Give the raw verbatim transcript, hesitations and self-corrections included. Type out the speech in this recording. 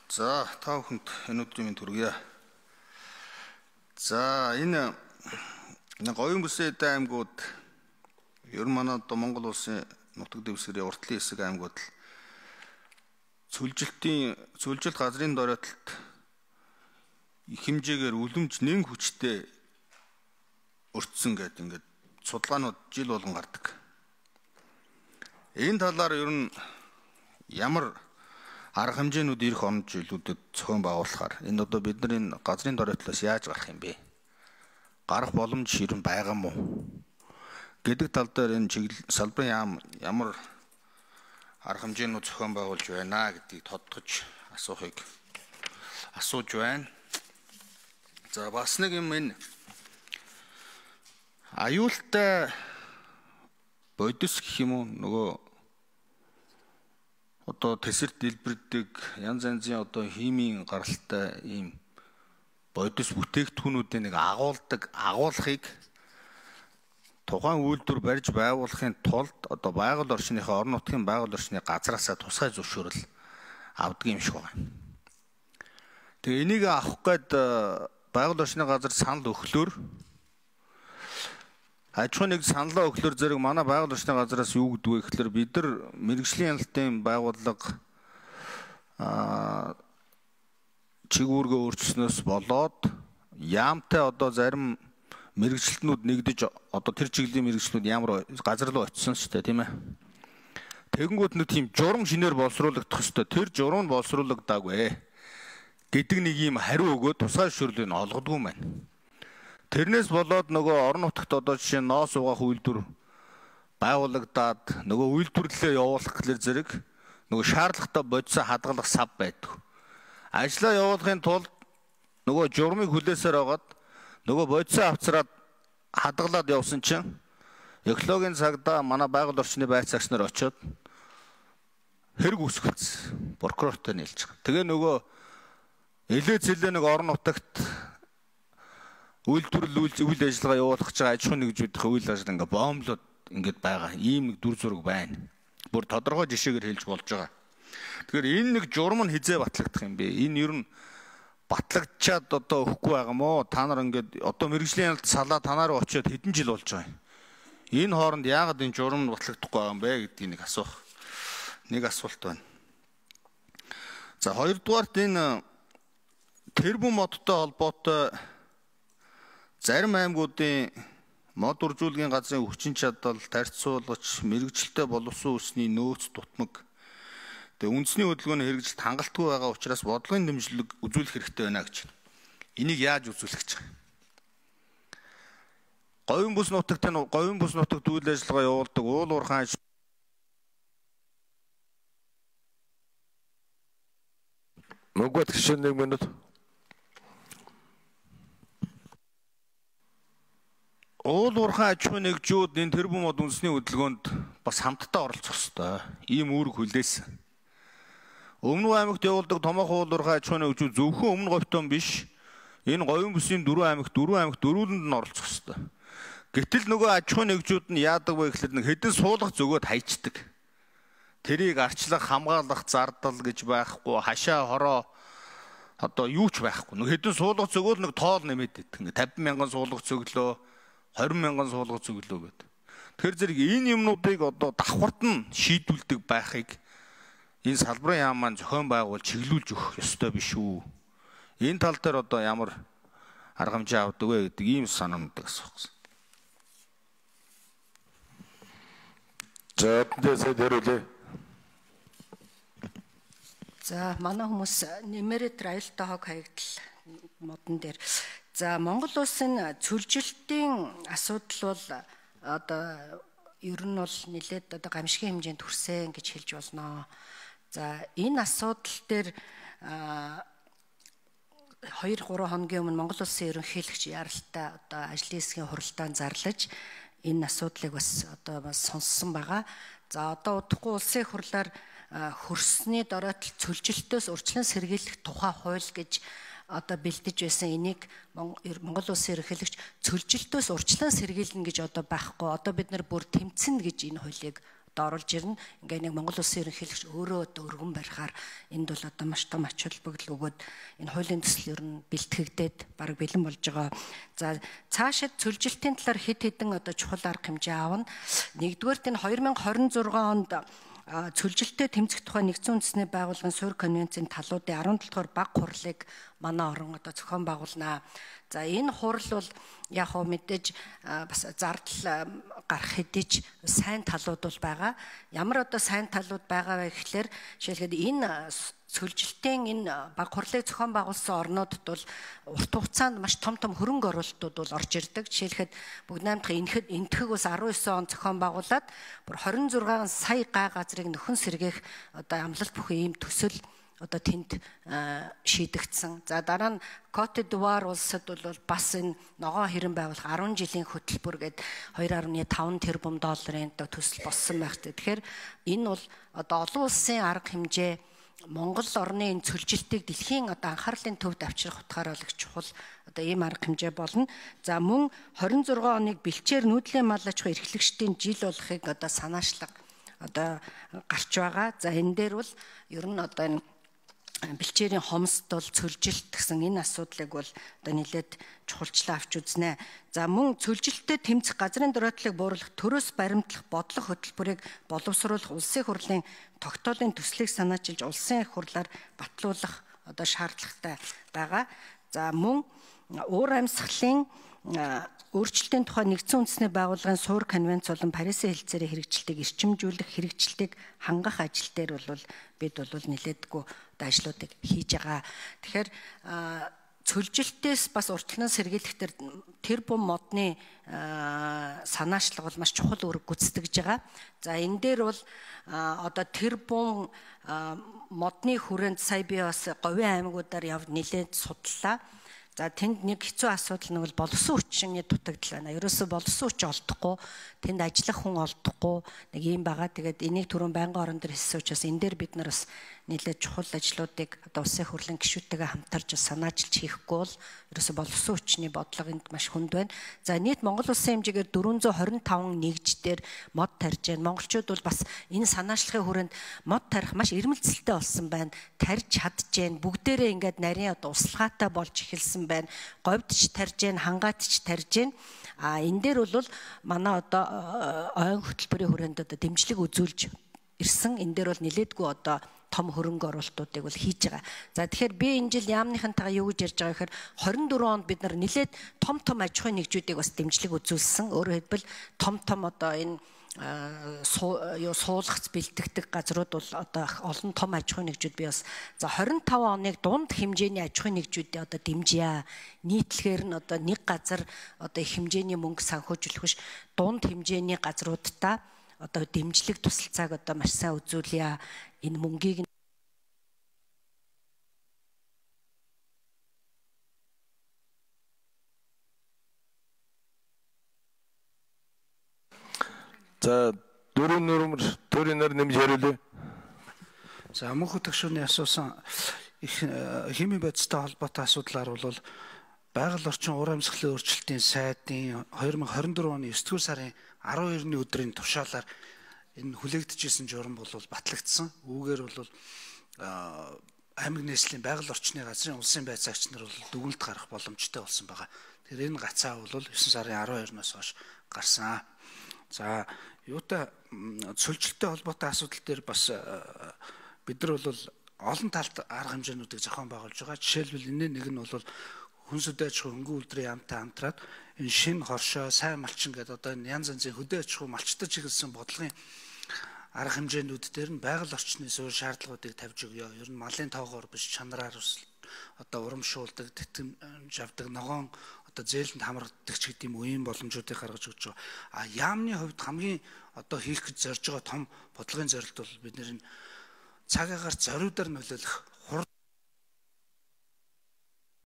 За, та бүхэнд энэ өдрийн төргийа. За, энэ Говийн бүсэд аймагуд ер нь манай одоо Монгол улсын нутаг дэвсгэрийн уртлын хэсэг аймагуд цөлжилтийн цөлжилт газрын дороотолд их хэмжээгээр үлэмж нэн хүчтэй өртсөн гэдэг ингээд судалгаанууд жил болгон гардаг. Энэ талаар ер нь ямар арга хэмжээнүүд ирэх он жилүүдэд зохион байгуулахаар энэ одоо бидний газрын дороотлоос яаж гарах юм бэ? Гарах боломж ер нь байгаа мó гэдэг тал дээр энэ чиглэл салбарын яам ямар арга хэмжээнүүд зохион байгуулж байна гэдгийг тодтогч асуухыг асууж байна. За бас нэг юм энэ аюултай бодис гэх юм уу нөгөө одоо тэсэрт дэлбэрдэг янз янзын одоо химийн гаралтай ийм бодис бүтээгдэхүүнүүдийн нэг агуулдаг агуулгыг тухайн үйлдвэр барьж байгуулахын тулд одоо байгаль орчныхаа орон нутгийн байгаль орчны газраасаа тусгай зөвшөөрөл авдаг юм шиг байна. Тэгээ энийг авах гээд байгаль орчны газар санал өглөөр аж ахуйн нэг саналаа өглөөр зэрэг манай байгаль орчны газраас юу гэдэг вэ гэхээр бид нар мэрэгжлийн ялалтын байгууллага аа чигүүргээ өөрчлснөөс болоод яамтай одоо зарим мэрэгчлэтнүүд нэгдэж одоо тэр чиглэлийн мэрэгчлүүд ямар газар руу очисон ч тийм ээ. Тэгэнгүүт нэг тийм журам шинээр боловсруулагдах ёстой. Тэр журам нь боловсруулагдаагүй гэдэг нэг юм хариу өгөөд тусгай зөвшөөрлийг олгодгүй юм байна. Тэрнээс болоод нөгөө орон нутагт одоо жишээ нь ноос угаах үйлдвэр байгуулагдаад нөгөө үйлдвэрлэлээ явуулах гэхлээр зэрэг нөгөө шаардлагатай бодисоо хадгалах сав байдаг. Ажлаа явуулахын тулд нөгөө журмыг хүлээсээр байгаад нөгөө бодисоо авцраад хадгалаад явсан чинь экологийн цагдаа манай байгаль орчны байцаагч нар очиод хэрэг үүсгэсэн. Прокурортой нийлж байгаа. Тэгээ нөгөө элээ зэлээ нэг орон нутагт үйлдвэрлэл үйл ажиллагаа явуулах гэж байгаа аж ахуйн нэгжүүдийн үйл ажиллагаа ингээ боомлоод ингээд байгаа. Ийм нэг дүр зураг байна. Бүр тодорхой жишээгээр хэлж болж байгаа. Тэгэхээр энэ нэг журам нь хизээ батлагдах юм бэ? Энэ ер нь батлагдчаад одоо өгөхгүй байгаа мó? Та нар ингээд одоо мэрэгжлийн ялалт салаа танаар очиод хэдэн жил болж байгаа юм. Энэ хооронд яагаад энэ журам нь батлагдахгүй байгаа юм бэ гэдгийг нэг асуух. Нэг асуулт байна. За хоёрдугаарт энэ тэрбум модтой холбоотой зарим аймагуудын мод үржүүлгийн газрын хүчин чадал, тарьцуулгач, мэрэгжилтэй боловсон усны нөөц дутмаг тэгээ үндэсний хөдөлгөөний хэрэгжилт хангалтгүй байгаа учраас бодлогын дэмжлэг үзүүлэх хэрэгтэй байна гэж. Энийг яаж үзүүлэх гэж байгаа? Говийн бүс нутагт нь говийн бүс нутагт үйл ажиллагаа явуулдаг уул уурхай Мөнгөт гişэн нэг минут. Уул уурхай аж ахуйн нэгжүүд энэ тэрбум мод үндэсний хөдөлгөөнд бас хамтдаа оролцох ёстой. Ийм үүрэг хүлээсэн. Өмнө аймагт явуулдаг томоохон уул уурхай аж ахуйн нэгжүүд зөвхөн өмнө говьтон биш. Энэ говийн бүсийн дөрвөн аймагт дөрвөн аймагт дөрвөлөнд нь оролцох ёстой. Гэтэл нөгөө аж ахуйн нэгжүүд нь яадаг вэ гэхэлэр нэг хэдэн суулгах зөгөөд хайчдаг. Тэрийг арчлах, хамгаалах, зардал гэж байхгүй, хашаа хороо одоо юу ч байхгүй. Нэг хэдэн суулгах зөгөөл нэг тоол нэмээд идэх. Ингээ тавин мянган суулгах зөглөө хорин мянган суулгах зөглөө гэдэг. Тэгэхээр зэрэг энэ юмнуудыг одоо давхарт нь шийдүүлдэг байхыг энэ салбарын яам маань зохион байгуул чиглүүлж өгөх ёстой биш үү? Энэ тал дээр одоо ямар арга хэмжээ авдаг вэ гэдэг ийм санаануудыг асуух. За тэсээ дөрүлээ. За манай хүмүүс нэмэрэ аюултай хог хаягдал модон дээр за Монгол улсын цөлжилтийн асуудал бол одоо ер нь бол нэлээд одоо гамшигын хэмжээнд хүрсэн гэж хэлж болно. За энэ асуудал дээр хоёр гурван хоногийн өмнө Монгол улсын ерөнхийлөгч яралтай одоо ажлын хэсгийн хуралдаанд зарлаж энэ асуудлыг бас одоо бас сонссон байгаа. За одоо удахгүй улсын хурлаар хөрсний дороотол цөлжилтөөс урьдчилан сэргийлэх тухай хууль гэж одоо бэлдэж байсан энийг Монгол улсын ерөнхийлөгч цөлжилтөөс урьдчилан сэргийлнэ гэж одоо байхгүй. Одоо бид нар бүр тэмцэнэ гэж энэ хуулийг одоо оруулж ирнэ. Ингээ нэг Монгол Улсын ерөнхийлөгч өөрөө одоо өргөн барихаар энд бол одоо маш том ач холбогдол өгөөд энэ хуулийн төсөл ер нь бэлтгэгдээд бараг бэлэн болж байгаа. За цаашид цөлжилтийн талаар хэд хэдэн одоо чухал арга хэмжээ аавна. Нэгдүгээрт энэ хоёр мянга хорин зургаан онд цөлжилттэй тэмцэх тухай нэгдсэн үндэсний байгууллагын суурь конвенцийн талуудын арван долоо дугаар баг хурлыг манай орон одоо зохион байгуулнаа. За энэ хурал бол яг хөө мэдээж бас зардал гарах хэдий ч сайн талууд бол байгаа. Ямар одоо сайн талууд байгаа вэ гэхлээр жишээлбэл энэ цөлжилтийн энэ баг хурлыг зохион байгуулсан орнуудад бол урт хугацаанд маш том том хөрөнгө оруулалтууд бол орж ирдэг. Жишээлхэд бүгд найрамдах энэхэд энтгэг ус арван девять он зохион байгуулад бүр хорин зургаан сая га газрыг нөхөн сэргээх одоо амлалт бүхэн ийм төсөл одоо тэнд шийдэгдсэн. За дараа нь Côte d'Ivoire улсад бол бас энэ ногоон хэрэн байгуулах арван жилийн хөтөлбөр гээд two point five тэрбум долларын төсөл болсон байх. Тэгэхээр энэ бол одоо олон улсын арга хэмжээ Монгол орны энэ цөлжилтийг дэлхийн одоо анхаарлын төвд авчрах утгаараа л их чухал одоо ийм арга хэмжээ болно. За мөн twenty six оныг бэлчээр нүүдлийн мал аж ахуй эрхлэгчдийн жил болохыг одоо санаачлаг одоо гарч байгаа. За энэ дээр бол ер нь одоо энэ бэлчээрийн хомсд бол цөлжилт гэсэн энэ асуудлыг бол одоо нэлээд чухалчлан авч үзнэ. За мөн цөлжилттэй тэмцэх газрын дөрөөдлийг бууруулах төрөөс баримтлах бодлого хөтөлбөрийг боловсруулах улсын хурлын тогтоолын төслийг санаачилж улсын их хурлаар батлуулах одоо шаардлагатай байгаа. За мөн уур амьсгалын өөрчлөлтийн тухай нэгдсэн үндэсний байгууллагын суурь конвенц болон Парисын хэлцээрийн хэрэгжилтийг эрчимжүүлэх хэрэгжилтийг хангах ажил дээр бол бид бол нэлээдгүй ажлуудыг хийж байгаа. Тэгэхээр цөлжилтээс бас уртлан сэргийлэх төр тэр бум модны санаачлал бол маш чухал үүрэг гүйцэтгэж байгаа. За энэ дээр бол одоо тэр бум модны хүрээнд сая би бас говийн аймагуудаар яв нэлээд судлаа. За тэнд нэг хэцүү асуудал нь бол боловсон хүчний дутагдал байна. Ерөөсө боловсон хүч олдохгүй, тэнд ажиллах хүн олдохгүй нэг юм байгаа. Тэгээд энийг түрүүн байнгын орон дээр хэлсэн учраас энэ дээр бид нар бас нэлээд чухал ажлуудыг одоо улсын хурлын гишүүдтэйгээ хамтарч санаачилж хийхгүй бол ерөөсө боловсон хүчний бодлого энд маш хүнд байна. За нийт Монгол улсын хэмжээгээр four hundred twenty-five нэгждэр мод тарьж байна. Монголчууд бол бас энэ санаачлагын хүрээнд мод тарих маш ирмэлцэлтэй болсон байна. Тарьж чадж байна. Бүгдээрээ ингээд нарийн одоо услахаатай болж эхэлсэн байна. Говьд ч тарьж байна, хангаад ч тарьж байна. А энэ дээр бол манай одоо ойн хөтөлбөрийн хүрээнд одоо дэмжлэг үзүүлж ирсэн. Энэ дээр бол нэлээдгүй одоо том хөрөнгө оруулалтуудыг бол хийж байгаа. За тэгэхээр би энэ жил яамныхантайгаа юу гэж ярьж байгаа гэхээр twenty-four онд бид нар нэлээд том том аж ахуйн нэгжүүдийг бас дэмжлэг үзүүлсэн. Өөрөөр хэлбэл том том одоо энэ юу суулгац бэлтгэдэг газрууд бол одоо олон том аж ахуйн нэгжүүд би бас за twenty-five оныг дунд хэмжээний аж ахуйн нэгжүүдээ одоо дэмжье. Нийтлэгээр нь одоо нэг газар одоо их хэмжээний мөнгө санхүүжүүлэх биш дунд хэмжээний газруудаа одоо дэмжлэг тусалцааг одоо маш сайн үзүүлье. Энэ мөнгийг За дөрөв нөрмөр төрийнээр нэмж яриулъя. За мөнх хөтгшүүний асуусан их химийн бодистой холбоотой асуудлаар бол байгаль орчин уур амьсгалын өөрчлөлтийн сайдын twenty twenty-four оны nine дугаар сарын twelve-ны өдрийн тушаалаар энэ хүлээгдэжсэн журам бол батлагдсан. Үүгээр бол аймаг нийслэлийн байгаль орчны газрын улсын байцаагч нар бол дүгнэлт гарах боломжтой болсон байгаа. Тэр энэ гацаа бол nine сарын twelve-ноос хойш гарсан. За юутай цөлжилттэй холбоотой асуудал дээр бас бид нар бол олон талт арга хэмжээнүүдийг зохион байгуулж байгаа. Жишээлбэл энэ нэг нь бол хүнс хөдөө аж ахуй хөнгөн үйлдвэрийн яамтай хамтраад энэ шинэ хоршоо, сайн малчин гэдэг одоо энэ янз янзын хөдөө аж ахуй малчтаж чиглэсэн бодлогын арга хэмжээнүүд дээр нь байгаль орчны суурь шаардлагуудыг тавьж өгье. Ер нь малын тоогоор биш чанараар одоо урамшуулдаг, тэтгэмж авдаг, ногоон одоо зээлэнд хамрагддаг ч гэдэг юм үеийн боломжуудыг гаргаж өгч байгаа. А яамны хувьд хамгийн одоо хийх гэж зорж байгаа том бодлогын зорилт бол бид нэр цагаагаар зориудаар нөлөөлөх